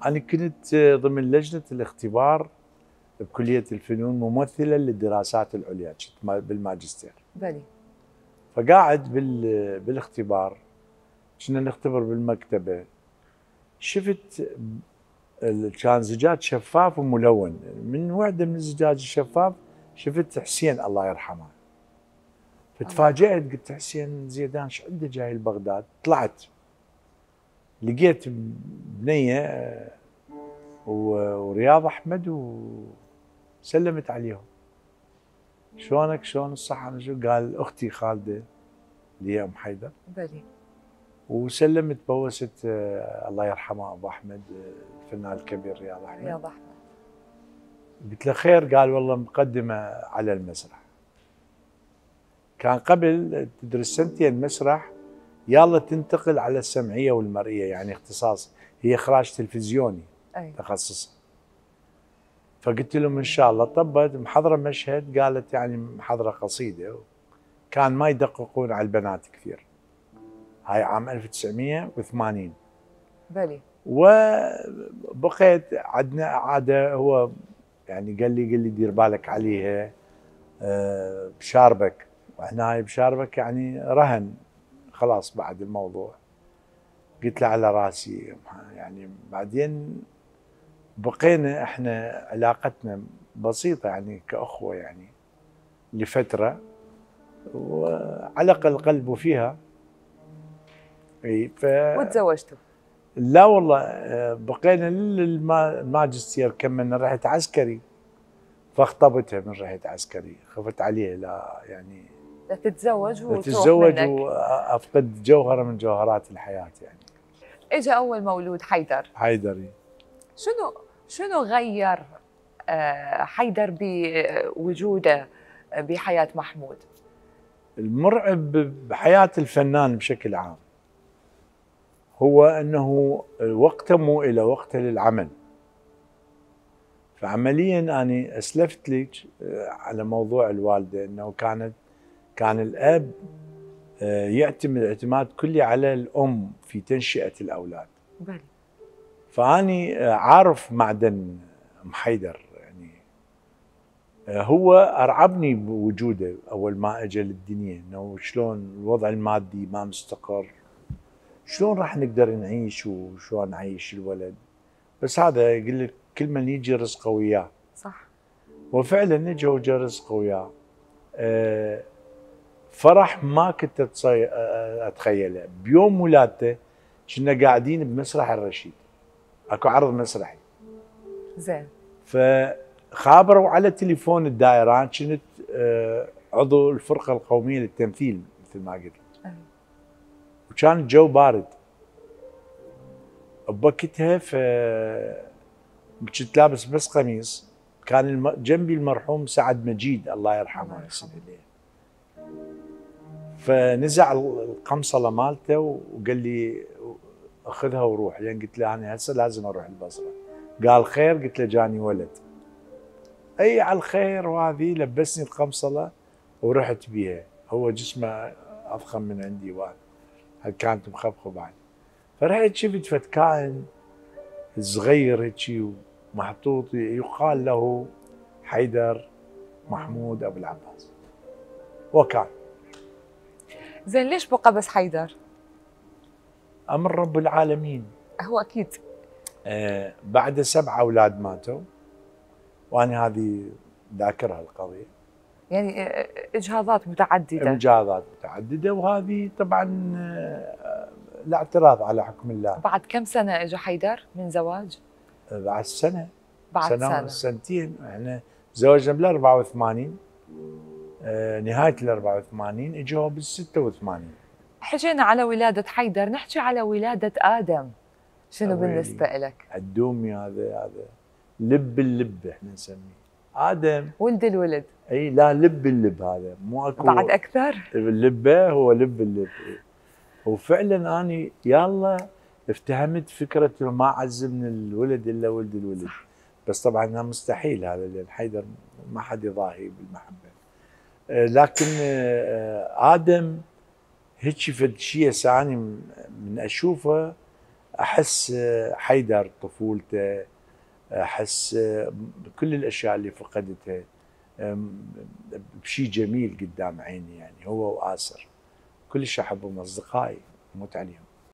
أنا كنت ضمن لجنة الاختبار بكلية الفنون ممثلا للدراسات العليا، كنت بالماجستير. بلي. فقاعد بالاختبار، كنا نختبر بالمكتبة، شفت كان زجاج شفاف وملون، من وحدة من الزجاج الشفاف شفت حسين الله يرحمه. فتفاجأت، قلت حسين زيدان شو عنده جاي لبغداد؟ طلعت لقيت بنية ورياض أحمد وسلمت عليهم. شلونك شلون الصحة؟ شو قال أختي خالدة اللي هي أم حيدر. بلي. وسلمت بوست الله يرحمه أبو أحمد الفنان الكبير رياض أحمد. رياض أحمد. قلت له خير؟ قال والله مقدمة على المسرح. كان قبل تدرس سنتين مسرح يلا تنتقل على السمعية والمرئية، يعني اختصاص هي إخراج تلفزيوني. أي. تخصصها. فقلت لهم إن شاء الله. طبت محضرة مشهد، قالت يعني محضرة قصيدة، كان ما يدققون على البنات كثير. هاي عام 1980. بلي. وبقيت عندنا عادة، هو يعني قال لي دير بالك عليها بشاربك، وهنا بشاربك يعني رهن خلاص بعد الموضوع. قلت له على راسي. يعني بعدين بقينا احنا علاقتنا بسيطة يعني كأخوة يعني لفترة، وعلق القلب فيها. اي وتزوجتوا؟ لا والله، بقينا للماجستير، كملنا. رحت عسكري فاخطبتها من رحت عسكري، خفت عليه لا يعني لا تتزوج وتتزوج وافقد جوهرة من جوهرات الحياة يعني. اجى اول مولود حيدري. شنو غير حيدر بوجوده بحياة محمود؟ المرعب بحياة الفنان بشكل عام هو أنه وقته مو إلى وقته للعمل. فعمليا أنا أسلفت لك على موضوع الوالدة، أنه كان الأب يعتمد اعتماد كلي على الأم في تنشئة الأولاد. بلي. فأني عارف معدن أم حيدر يعني. هو أرعبني بوجوده أول ما أجى للدنيا، أنه شلون الوضع المادي ما مستقر، شلون راح نقدر نعيش وشلون نعيش الولد. بس هذا يقول لك كل من يجي رزقه وياه. صح. وفعلا اجى وجا رزقه وياه. فرح ما كنت اتخيله. بيوم ولادته كنا قاعدين بمسرح الرشيد، اكو عرض مسرحي. زين. فخابروا على تليفون الدائرة، كنت عضو الفرقة القومية للتمثيل مثل ما قلت. وكان الجو بارد بوقتها، كنت لابس بس قميص. كان جنبي المرحوم سعد مجيد الله يرحمه يحسن اليه. فنزع القمصله مالته وقال لي اخذها وروح، لان قلت له انا هسه لازم اروح البصره. قال خير؟ قلت له جاني ولد. اي على الخير. وهذه لبسني القمصله ورحت بيها. هو جسمه اضخم من عندي وايد، كانت مخبخه بعد. فرحت شفت فد كائن صغير هيك ومحطوط، يقال له حيدر محمود ابو العباس. وكان زين. ليش بقى بس حيدر؟ امر رب العالمين. هو اكيد. بعد 7 اولاد ماتوا، وانا هذه ذاكرها القضيه. يعني اجهاضات متعدده. وهذه طبعا الاعتراض على حكم الله. بعد كم سنه اجى حيدر من زواج؟ بعد سنه. بعد سنه سنتين. احنا تزوجنا بال 84. نهايه ال 84 اجوا بال 86. حكينا على ولاده حيدر، نحكي على ولاده ادم. شنو بالنسبه لك؟ الدومي هذا لب اللب احنا نسميه ادم، ولد الولد. اي لا، لب اللب هذا مو اكو بعد اكثر. اللبه هو لب اللب. وفعلا اني يلا افتهمت فكره ما عز من الولد الا ولد الولد. بس طبعا مستحيل هذا، لان حيدر ما حد يضاهي بالمحبه. لكن ادم هيك فد شيء ثاني من اشوفه احس حيدر طفولته، احس كل الاشياء اللي فقدتها بشي جميل قدام عيني، يعني هو وآسر كلش احبهم، اصدقائي اموت عليهم.